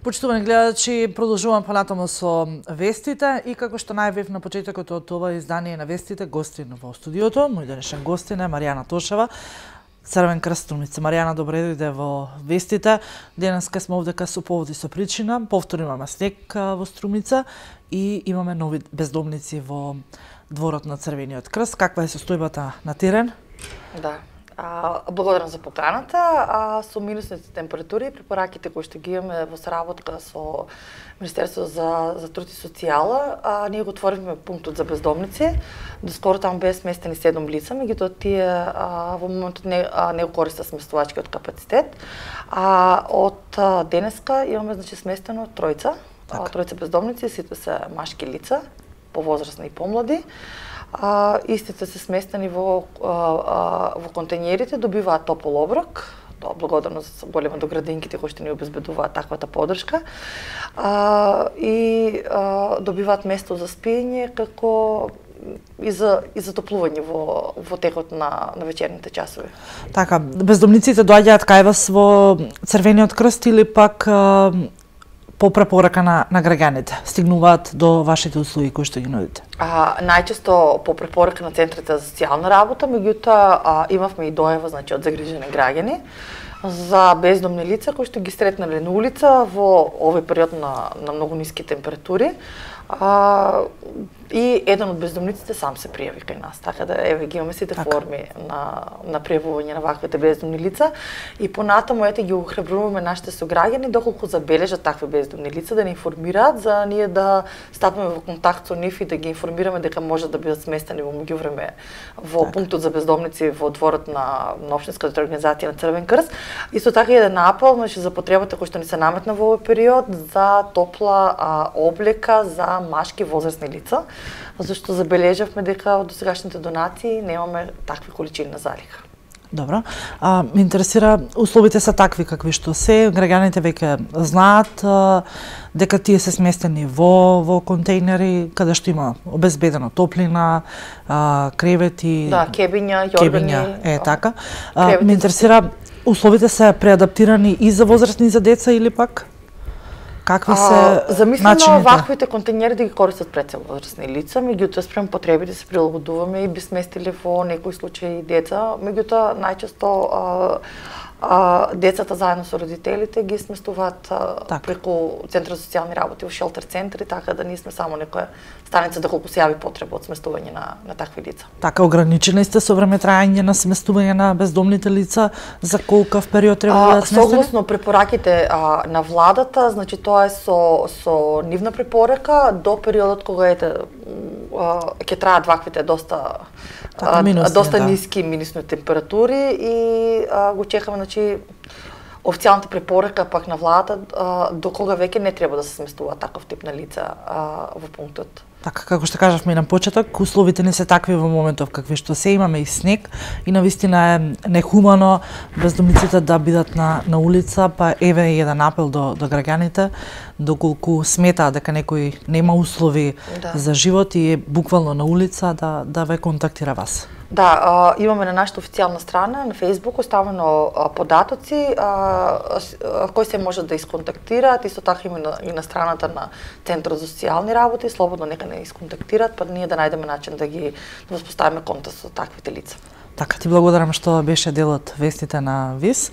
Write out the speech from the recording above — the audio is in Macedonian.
Почитувани гледачи, продолжувам понатаму со вестите и како што најавив на почетокот од ова издание на вестите, гостин во студиото, мој денешен гостин е Маријана Тошева, Црвен крст Струмица. Маријана, добре дојде во вестите. Денеска сме овдека со повод и со причина. Повторно имаме снег во Струмица и имаме нови бездомници во дворот на Црвениот крст. Каква е состојбата на терен? Да. Благодарам за поканата. Со минусните температури и препораките кои што ги имаме во соработка со Министерството за труд и социјала, ние го отворивме пунктот за бездомници. Доскоро таму беа сместени 7 лица, меѓутоа тие во моментот не го користат сместувачкиот капацитет. Од денеска имаме сместено тројца бездомници, сите се машки лица, повозрасни и помлади. Истите се сместени во контејнерите, добиваат топол оброк, тоа благодарно за голема до градинките кои што ни обезбедуваат таквата поддршка, и добиваат место за спиење како и за затоплување во текот на вечерните часови. Така, бездомниците доаѓаат кај вас во Црвениот крст или пак по препорака на граѓаните стигнуваат до вашите услуги кои што ги нудите? Најчесто по препорака на центрите за социјална работа, меѓутоа имавме и дојава од загрижени граѓани за бездомни лица кои што ги сретнале на улица во овој период на многу ниски температури. И еден од бездомниците сам се пријави кај нас, така да еве ги имаме сите форми на пријавување на ваквите бездомни лица и понатаму ги охрабруваме нашите сограѓани доколку забележат такви бездомни лица да ни информираат за ние да стапиме во контакт со нив и да ги информираме дека може да бидат сместени во меѓувреме во пунктот за бездомници во дворот на општинската организација на Црвен крст. Исто така еден апел за потребата која што ни се наметна во овој период за топла облека за машки возрастни лица, зашто забележавме дека од досегашните донации немаме такви количини на залиха. Добро. Ме интересира, условите се такви какви што се, граѓаните веќе знаат дека тие се сместени во контејнери каде што има обезбедено топлина, кревети, кебиња, јоргани. Така. Ме интересира, условите се преадаптирани и за возрастни и за деца или пак? Какви се замислено ваквите контејнери да ги користат пред се возрастни лица, меѓутоа спрема потребите се прилагодуваме и би сместиле во некои случаи деца, меѓутоа најчесто децата заедно со родителите ги сместуваат преку Центар за социјални работи во шелтер центри, така да ние сме само некоја станица доколку се јави потреба од сместување на такви лица. Така, ограничени сте со време траење на сместување на бездомните лица, за колкав период треба да бидат сместени? Согласно препораките на владата, значи тоа е со нивна препорака до периодот кога ќе траат ваквите доста ниски минусни температури и го чекаме, значи, официјалната препорака пак на владата до кога веќе не треба да се сместува таков тип на лица во пунктот. Така, како што кажавме и на почеток, условите не се такви во моментов какви што се, имаме и снег и навистина е нехумано бездомниците да бидат на улица, па еве еден апел до граѓаните, доколку сметаат дека некој нема услови за живот и е буквално на улица, да ве контактира вас. Да, имаме на нашата официјална страна на Facebook оставено податоци кои се може да исконтактираат, исто така и на страната на Центарот за социјални работи, слободно нека не исконтактираат, па ние да најдеме начин да ги воспоставиме контакт со таквите лица. Така, ти благодарам што беше дел од вестите на ВИС.